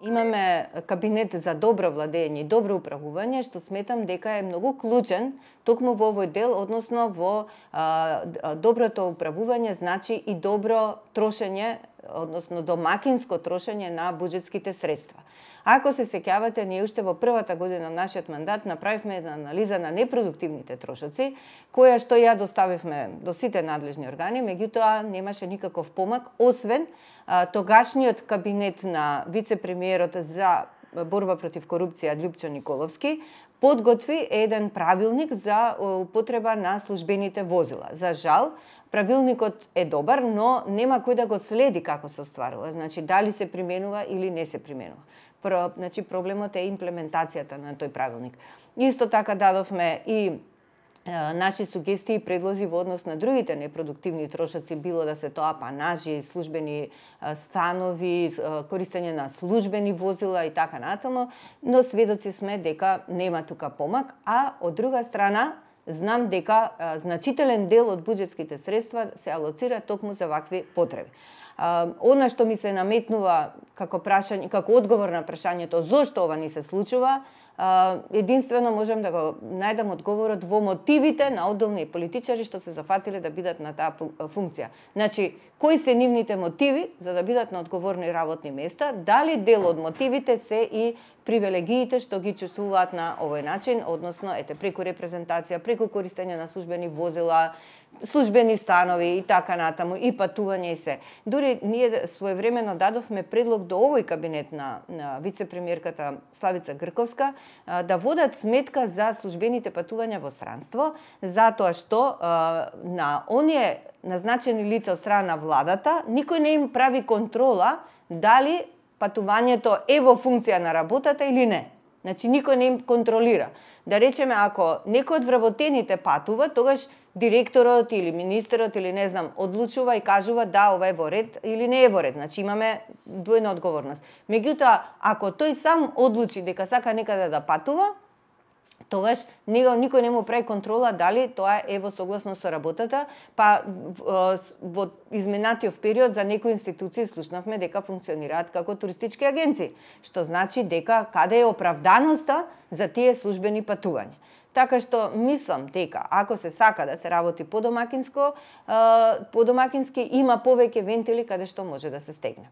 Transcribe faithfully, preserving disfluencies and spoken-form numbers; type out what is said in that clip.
Имаме кабинет за добро владење и добро управување, што сметам дека е многу клучен токму во овој дел, односно во а, доброто управување значи и добро трошење, односно домакинско трошење на буџетските средства. Ако се сеќавате, ние уште во првата година на нашиот мандат направивме една анализа на непродуктивните трошоци, која што ја доставивме до сите надлежни органи, меѓутоа немаше никаков помак, освен а, тогашниот кабинет на вице-премиерот за борба против корупција Љупчо Николовски подготви еден правилник за употреба на службените возила. За жал, правилникот е добар, но нема кој да го следи како се остварува, значи дали се применува или не се применува. Про, значи проблемот е имплементацијата на тој правилник. Исто така дадовме и е, наши сугестии и предлози во однос на другите непродуктивни трошоци, било да се тоа апанажи, службени е, станови, е, користење на службени возила и така натаму, но сведоци сме дека нема тука помак, а од друга страна знам дека е, значителен дел од буџетските средства се алоцира токму за вакви потреби. Uh, она што ми се наметнува како прашање, како одговор на прашањето зошто ова ни се случува, uh, единствено можам да го најдам одговорот во мотивите на одделни политичари што се зафатиле да бидат на таа функција. Значи, кои се нивните мотиви за да бидат на одговорни работни места, дали дел од мотивите се и привилегиите што ги чувствуваат на овој начин, односно ете преку репрезентација, преку користење на службени возила, службени станови и така натаму, и патување и се. Дури ние своевремено дадовме предлог до овој кабинет на, на вице-премиерката Славица Грковска а, да водат сметка за службените патувања во странство, затоа што а, на оние назначени лица од страна на владата, никој не им прави контрола дали патувањето е во функција на работата или не. Значи, никој не им контролира. Да речеме, ако некој од вработените патува, тогаш директорот или министерот или не знам, одлучува и кажува да, ова е во ред или не е во ред. Значи, имаме двојна одговорност. Меѓутоа, ако тој сам одлучи дека сака некаде да патува, тогаш него никој не му прави контрола дали тоа е во согласност со работата, па во изминатиот период за некои институции слушнавме дека функционираат како туристички агенции, што значи дека каде е оправданоста за тие службени патувања. Така што мислам дека ако се сака да се работи подомакинско, подомакински има повеќе вентили каде што може да се стегне.